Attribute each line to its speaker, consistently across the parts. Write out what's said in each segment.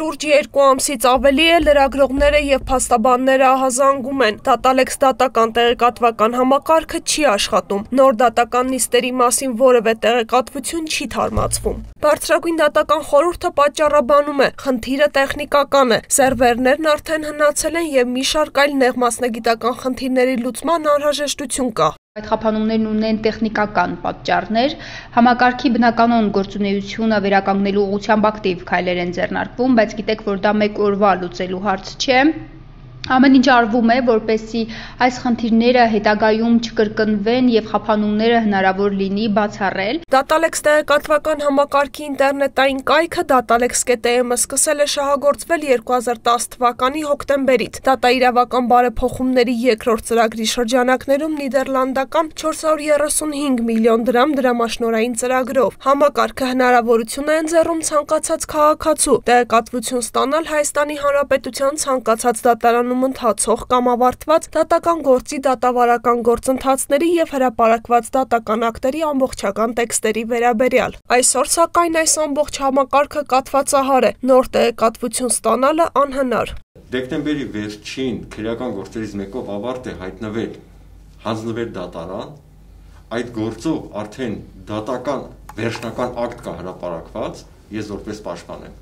Speaker 1: շուրջ 2 ամսից ավելի է լրագրողները եւ փաստաբանները ահազանգում են. Dataalex դատական տեղեկատվական համակարգը չի աշխատում, նոր դատական նիստերի մասին որևէ տեղեկատվություն չի թարմացվում։ Բարձրագույն դատական խորհուրդը պատճառաբանում է, խնդիրը տեխնիկական է, սերվերներն արդեն հնացել են եւ մի շարք այլ նեղ մասնագիտական խնդիրների լուծման անհրաժեշտություն կա։
Speaker 2: Այդ խափանումներն ունեն տեխնիկական պատճառներ, համակարգի բնականոն գործունեությունը վերականգնելու ուղղությամբ ակտիվ քայլեր են ձեռնարկվում, բայց գիտեք, որ դա մեկ օրվա լուծելու հարց չէ։ Ամեն ինչ արվում է, որպեսզի այս խնդիրները հետագայում չկրկնվեն եւ խափանումները հնարավոր լինի բացառել։
Speaker 1: Dataalex տեղեկատվական համակարգի ինտերնետային կայքը Datalex.am-ը սկսել է շահագործվել 2010 թվականի հոկտեմբերից։ Դատաիրավական բարեփոխումների երկրորդ ծրագրի շրջանակներում նիդերլանդական 435 միլիոն դրամ դրամաշնորհային ծրագրով։ Համակարգը հնարավորություն է ընձեռում ցանկացած քաղաքացու տեղեկատվություն ստանալ Հայաստանի Հանրապետության ցանկացած դատարանում ընթացող կամ ավարտված դատական գործի դատավարական գործընթացների եւ հրապարակված դատական ակտերի ամբողջական տեքստերի վերաբերյալ։ Այսօր սակայն այս ամբողջ համակարգը կաթվածահար է, նոր տեղեկատվություն ստանալը անհնար։
Speaker 3: Դեկտեմբերի վերջին քրեական գործերից մեկով ավարտ է հայտնվել հանձնվեր դատարան, այդ գործով արդեն դատական վերջնական ակտ կա հրապարակված, ես որպես պաշտպան եմ։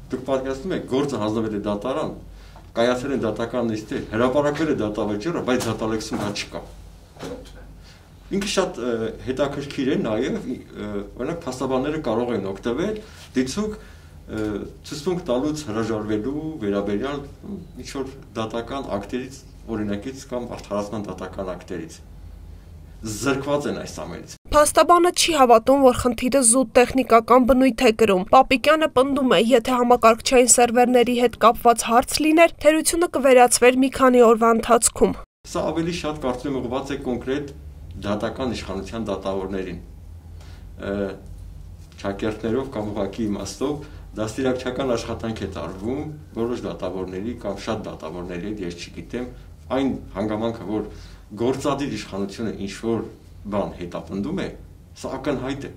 Speaker 3: Դուք պատկերացնում եք, գործը հանձնվել է դատարան, կայացել են դատական նիստեր, հրապարակվել է դատավճիռը, բայց Dataalex-ում դա չկա։ Ինքը շատ հետաքրքիր է նաև, օրինակ փաստաբանները կարող են օգտվել դիցուկ ցուցմունք տալուց հրաժարվելու վերաբերյալ ինչ-որ դատական ակտերից, օրինակից կամ արդարացման դատական ակտերից։ Զրկված են այս ամենից։
Speaker 1: Փաստաբանը չի հավատում, որ խնդիրը զուտ տեխնիկական բնույթ է կրում։ Պապիկյանը պնդում է, եթե համակարգչային սերվերների հետ կապված հարց լիներ, թերությունը կվերացվեր մի քանի օրվա ընթացքում։
Speaker 3: Սա ավելի շատ կարծում եմ ուղղված է կոնկրետ դատական իշխանության դատավորներին։ Ճակերտներով կամ ուղղակի իմաստով դաստիարակչական աշխատանք է տարվում որոշ դատավորների կամ շատ դատավորների հետ, ես չգիտեմ, այն հանգամանքը, որ գործադիր իշխանությունը ինչ-որ բան հետապնդում է, սա ակնհայտ է։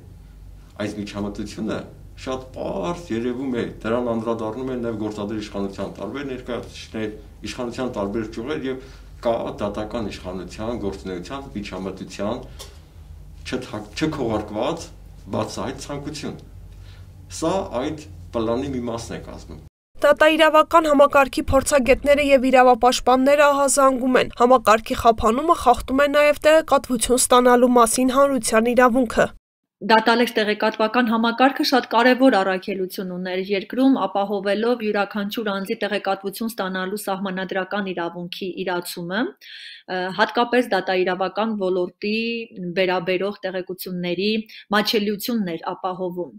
Speaker 3: Այս միջամտությունը շատ պարզ երևում է, դրան անդրադառնում են նաև գործադիր իշխանության տարբեր ներկայացուցիչներ, իշխանության տարբեր ճյուղեր եւ կա դատական իշխանության գործունեության միջամտության չքողարկված բացահայտ ցանկություն։ Սա այդ պլանի մի մասն է կազմում։
Speaker 1: Դատաիրավական համակարգի փորձագետները եւ իրավապաշտպանները ահազանգում են, համակարգի խափանումը խախտում է նաեւ տեղեկատվություն ստանալու մասին հանրության իրավունքը։
Speaker 4: Dataalex տեղեկատվական համակարգը շատ կարևոր առաքելություն ուներ երկրում, ապահովելով յուրաքանչյուր անձի տեղեկատվություն ստանալու սահմանադրական իրավունքի իրացումը, հատկապես դատաիրավական ոլորտի վերաբերող տեղեկությունների մատչելիությունն էր ապահովում։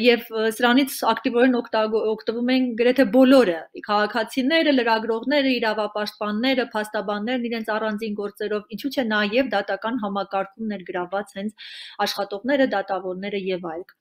Speaker 4: Եվ սրանից ակտիվորեն օգտվում են գրեթե բոլորը, քաղաքացիները, լրագրողները, իրավապաշտպանները, փաստաբաններն իրենց առանձին գործերով, ինչու՞ չէ նաև դատական համակարգում ներգրավված հենց աշխատողներ դատավորները եւ այլք։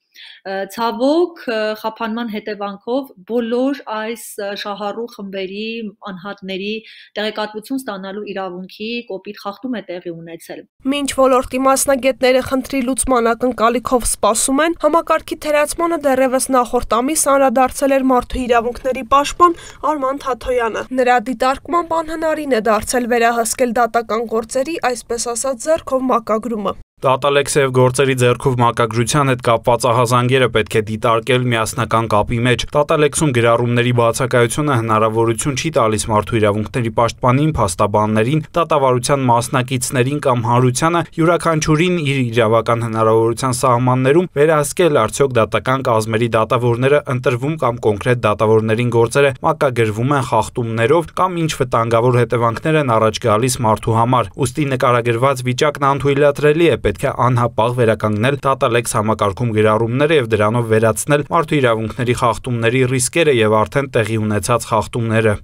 Speaker 4: Ցավոք խափանման հետևանքով բոլոր այս շահառու խմբերի անհատների տեղեկատվություն ստանալու իրավունքի կոպիտ խախտում է տեղի ունեցել։
Speaker 1: Մինչ ոլորտի մասնագետները խնդրի լուծման ակնկալիքով սպասում են, համակարգի թերացմանը դեռևս նախորդ ամիս անդրադարձել էր մարդու իրավունքների պաշտպան Արման Թաթոյանը։ Նրա դիտարկմամբ անհնարին է դարձել վերահսկել դատական գործերի, այսպես ասած, ձեռքով մակագրումը։
Speaker 5: Dataalex եւ գործերի ձեռքով մակագրության հետ կապված ահազանգերը պետք է դիտարկել միասնական կապի մեջ։ Dataalex-ում գրառումների բացակայությունը հնարավորություն չի տալիս մարդու իրավունքների պաշտպանին, փաստաբաններին, դատավարության մասնակիցներին կամ հանրությանը յուրաքանչյուրին իր իրավական հնարավորության սահմաններում վերահսկել արդյոք դատական կազմերի դատավորները ընտրվում կամ կոնկրետ դատավորներին գործերը մակագրվում են խախտումներով կամ ինչ վտանգավոր հետևանքներ են առաջ գալիս մարդու համար։ Ուստի նկարագրված վիճակն անթույլատրելի է, պետք է անհապաղ վերականգնել Dataalex համակարգում գրառումները եւ դրանով վերացնել մարդու իրավունքների խախտումների ռիսկերը եւ արդեն տեղի ունեցած խախտումները։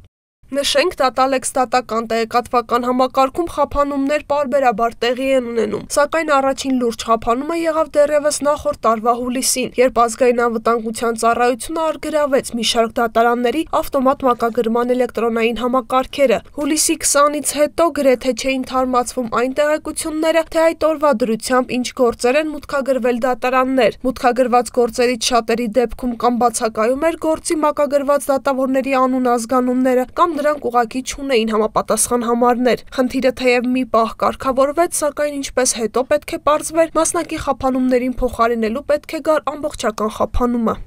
Speaker 1: Նշենք, Data-Alex դատական տեղեկատվական համակարգում խափանումներ պարբերաբար տեղի են ունենում, սակայն առաջին լուրջ խափանումը եղավ դեռևս նախորդ տարվա հուլիսին, երբ ազգային անվտանգության ծառայությունը առգրավեց մի շարք դատարանների ավտոմատ մակագրման էլեկտրոնային համակարգերը։ Հուլիսի 20-ից հետո գրեթե չէին թարմացվում այն տեղեկությունները, թե այդ օրվա դրությամբ ինչ գործեր են մուտքագրվել դատարաններ։ Մուտքագրված գործերից շատերի դեպքում կամ բացակայում էր գործի մակագրված դատավորների անուն ազգանունները, կամ նրանք ուղղակի չունեին համապատասխան համարներ։ Խնդիրը թեև մի պահ կարգավորվեց, սակայն ինչպես հետո պետք է պարզվեր, մասնակի խափանումներին փոխարինելու պետք է գար ամբողջական խափանումը։